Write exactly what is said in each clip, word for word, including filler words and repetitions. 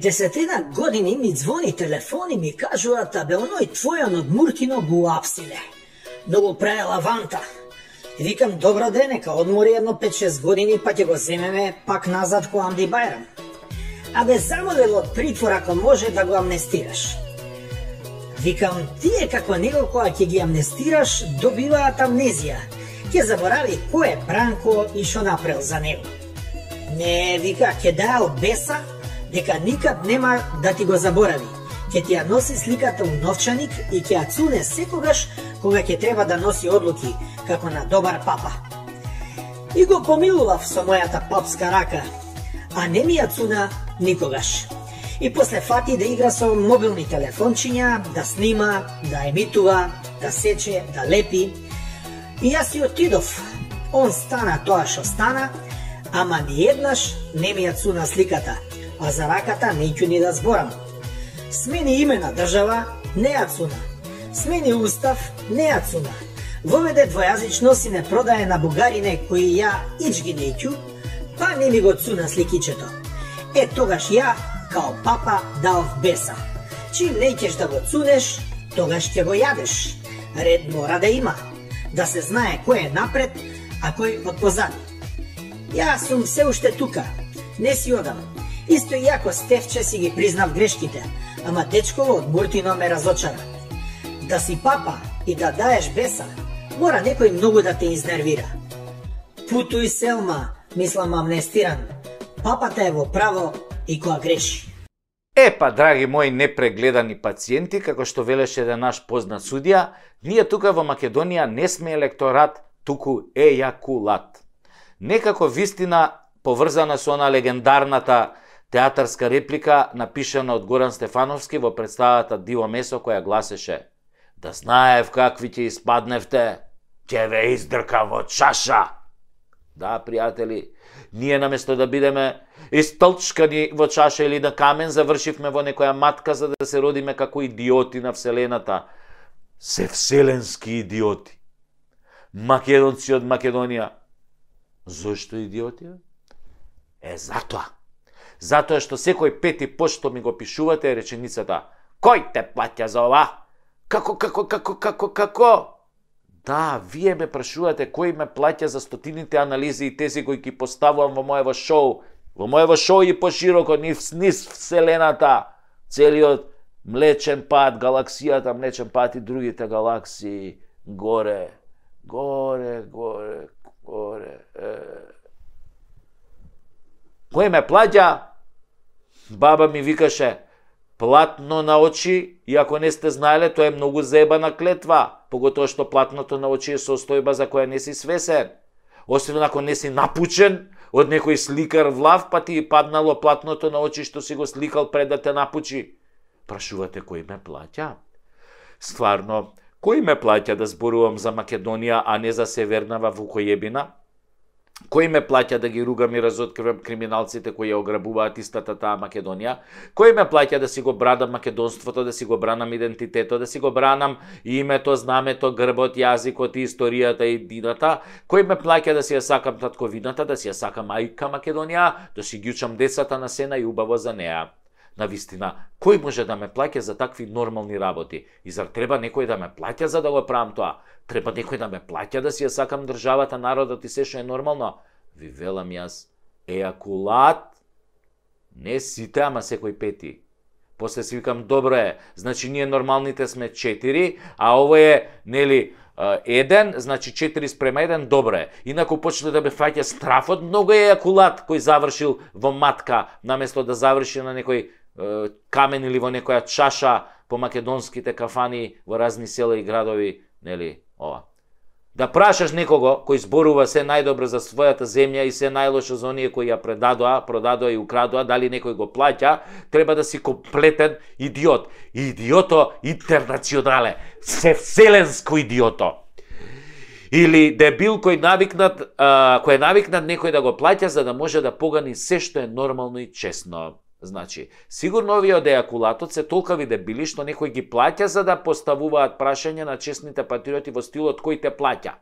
десетина години ми звони телефон и ми кажуваат, абе оној твојан од Муртино го апсиле. Многу праe лаванта. И викам, добро ден, нека одмори едно пет-шест години, па ќе го земеме пак назад ко Амди Бајрам. Абе замолел од притвор ако може да го амнестираш. Викам, тие како него кога ќе ги амнестираш, добиваат амнезија. Ќе заборави кој е Бранко и шо направил за него. Не, вика, ќе даа од беса, дека никад нема да ти го заборави. Ќе ти ја носи сликата у новчаник и ќе ја цуне секогаш кога ќе треба да носи одлуки, како на добар папа. И го помилував со мојата папска рака, а не ми ја цуна никогаш. И после фати да игра со мобилни телефончиња, да снима, да емитува, да сече, да лепи. И јас си отидов. Он стана тоа што стана, ама ни еднаш не ми ја цуна сликата, а за раката неќу ни да зборам. Смени име на држава, не ја цуна. Смени устав, не ја цуна. Воведе двојазичност и не продае на бугарине кои ја ич ги неќу, па не ми го цуна сликичето. Е, тогаш ја, као папа, дав беса. Чим неќеш да го цунеш, тогаш ќе го јадеш. Ред мора да има. Да се знае кој е напред, а кој од позади. Јас сум се уште тука, не си одам. Исто и јако Стефче си ги признав грешките, ама дечково од Муртино ме разочара. Да си папа и да даеш беса, мора некој многу да те изнервира. Путуј, Селма, мислам амнестиран. Папата е во право и која греши. Е, па, драги мои непрегледани пациенти, како што велеше еден наш познат судија, ние тука во Македонија не сме електорат, туку ејакулат. Некако вистина поврзана со она легендарната театарска реплика напишана од Горан Стефановски во представата Диво месо, која гласеше: да знаев какви ќе испадневте, ќе ве издрка во чаша. Да, пријатели, ние наместо да бидеме истолчкани во чаша или на камен, завршивме во некоја матка за да се родиме како идиоти на Вселената. Се вселенски идиоти. Македонци од Македонија. Зошто идиоти? Е, затоа. Затоа што секој пети пост што ми го пишувате е реченицата: кој те плаќа за ова? Како, како, како, како, како? Да, вие ме прашувате кој ме плаќа за стотините анализи и тези кои ги поставувам во моево шоу. Во моево шоу и пошироко, низ, низ Вселената. Целиот Млечен пат, галаксијата Млечен пат и другите галаксии. Горе, горе, горе, горе. Е. Кој ме плаќа? Баба ми викаше: платно на очи, и ако не сте знаеле, тоа е многу заебана клетва, поготоа што платното на очи е состојба за која не си свесен. Освен ако не си напучен од некој сликар влав, па ти паднало платното на очи што си го сликал пред да те напучи. Прашувате кој ме плаќа? Стварно, кој ме плаќа да зборувам за Македонија, а не за Севернава Вукојебина? Кој ме плаќа да ги ругам и разоткривам криминалците кои ја ограбуваат истата таа Македонија? Кој ме плаќа да си го бранам македонството, да си го бранам идентитетот, да си го бранам името, знамето, грбот, јазикот, историјата и дината? Кој ме плаќа да си ја сакам татковината, да си ја сакам мајка Македонија, да си ги учам децата на сена и убаво за неа? На вистина, кој може да ме плаќа за такви нормални работи? И зар треба некој да ме плаќа за да го правам тоа? Треба некој да ме плаќа да си ја сакам државата, народот и се што е нормално? Ви велам јас, ејакулат, не сите, ама секој пети. После си викам, добро е, значи ние нормалните сме четири, а ово е, нели, еден, значи четири спрема еден, добро е. Инаку почне да ме фаќа страфот, многу е ејакулат кој завршил во матка, наместо да заврши на некој е, камен или во некоја чаша по македонските кафани во разни села и градови, нели, ова. Да прашаш некого кој зборува се најдобро за својата земја и се најлошо за оние кои ја предадоа, продадоа и украдоа, дали некој го плаќа, треба да си комплетен идиот. Идиото интернационале, се вселенско идиото. Или дебил кој навикнат, а, кој е навикнат некој да го плаќа за да може да погани се што е нормално и честно. Значи, сигурно овие од ејакулатот се толкави дебили што некој ги плаќа за да поставуваат прашања на честните патриоти во стилот кој те плаќа.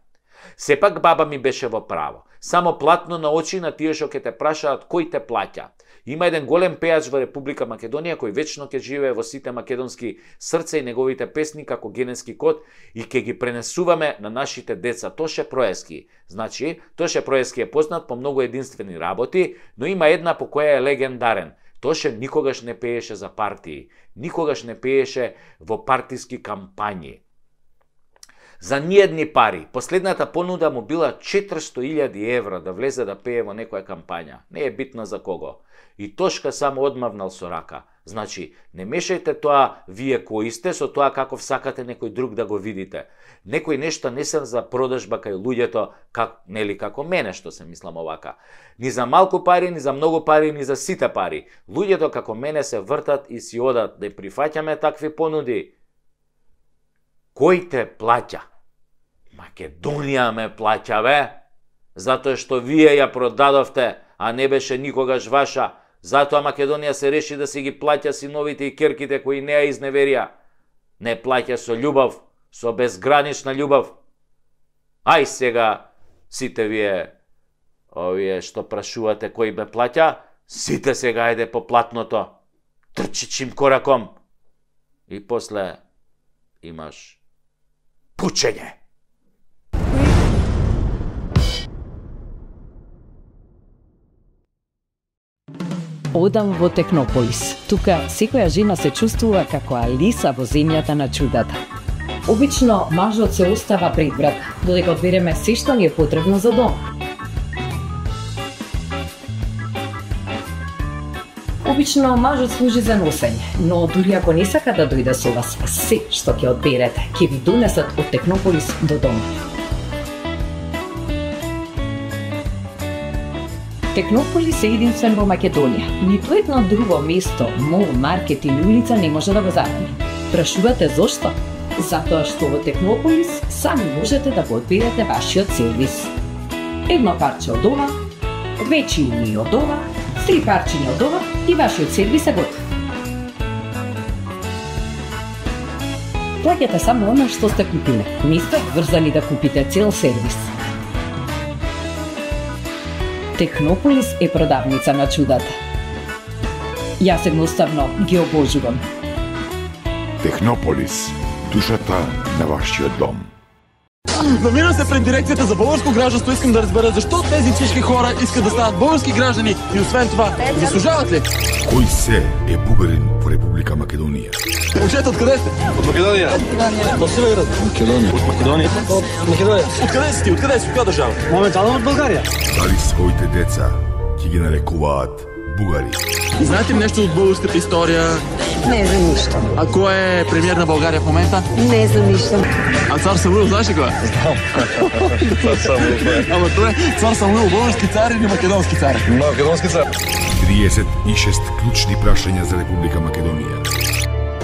Сепак баба ми беше во право. Само платно на очи на тие што ќе те прашаат кој те плаќа. Има еден голем пеач во Република Македонија кој вечно ќе живее во сите македонски срца и неговите песни како генетски код и ќе ги пренесуваме на нашите деца. Тоше Проески. Значи, Тоше Проески е познат по многу единствени работи, но има една по која е легендарен. Тоше никогаш не пееше за партии, никогаш не пееше во партиски кампањи. За ниедни пари. Последната понуда му била четиристо илјади евра да влезе да пее во некоја кампања. Не е битно за кого. И Тошка само одмавнал со рака. Значи, не мешајте тоа вие кои сте со тоа како сакате некој друг да го видите. Некој нешто не се за продажба кај луѓето, как, нели како мене што се мислам овака. Ни за малку пари, ни за многу пари, ни за сите пари. Луѓето како мене се вртат и си одат. Да прифаќаме такви понуди. Кој те плаќа? Македонија ме плаќа, бе. Затоа што вие ја продадовте, а не беше никогаш ваша. Затоа Македонија се реши да си ги плаќа синовите и керките кои не ја изневерија. Не плаќа со љубов, со безгранична љубов. Ај сега, сите вие, овие што прашувате кој ме плаќа, сите сега ајде по платното. Трчи чим кораком. И после имаш пучење. Одам во Технополис. Тука секоја жена се чувствува како Алиса во земјата на чудата. Обично мажот се остава пред врата, додека одбереме се што ни е потребно за дом. Обично мажот служи за носење, но дури ако не сака да дојде со вас, се што ќе одберете, ќе ви донесат од Технополис до дома. Технополис е единствен во Македонија. Ниту едно друго место, мол, маркет или улица не може да го замени. Прашувате зошто? Затоа што во Технополис сами можете да го одберете вашиот сервис. Едно парче од ова, две чини од ова, три парчиња од ова и вашиот сервис е готов. Плаќате само она што сте купиле. Не сте врзани да купите цел сервис. Технополис е продавница на чудата. Јас едноставно ги обожувам. Технополис, душата на вашиот дом. Намирам се пред дирекцијата за българско гражданство, искам да разбера зашто тези всички хора искат да станат български граждани и освен това, заслужават ли? Кој се е бугарин во Република Македонија? Момчета, откъде сте? От Македонија. От Северот. Македонија. От Македонија. От Македонија. Откъде си ти? Откъде си? От која држава? Моментално од Българија. Дали своите деца ќе ги нарекуваат бугари? Знаете ли нещо от българската история? Не знам ништо. А кој е премиер на Българија в момента? Не знам ништо. А цар Самуил, знаеш ли кој е? Знам. Цар Самуил. Ама тоа е цар Самуил, български цар или македонски цар? Македонски цар. триесет и шест клучни прашања за Република Македонија.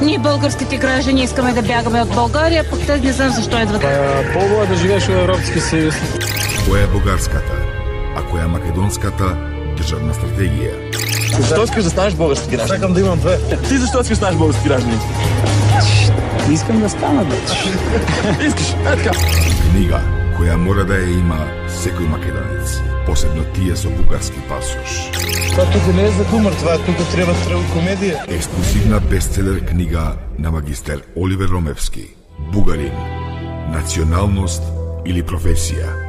Ние българските граждани искаме да бягаме од Българија, пак те не знам зашто едват. По-добро е да живееш во Европски съюз. Која е бугарската, а која е македонската државна стратегија? Защо искаш да станеш български гражданин? Чакам да имам две. Ти защо искаш да станеш български гражданин? Искам да стана, бе. Искаш, е така. Книга која мора да ја има секој македонец, посебно тие со бугарски пасош. Тоа тука не е за хумор, това тука треба комедија. Ексклузивна бестселер книга на магистер Оливер Ромевски. Бугарин. Националност или професија?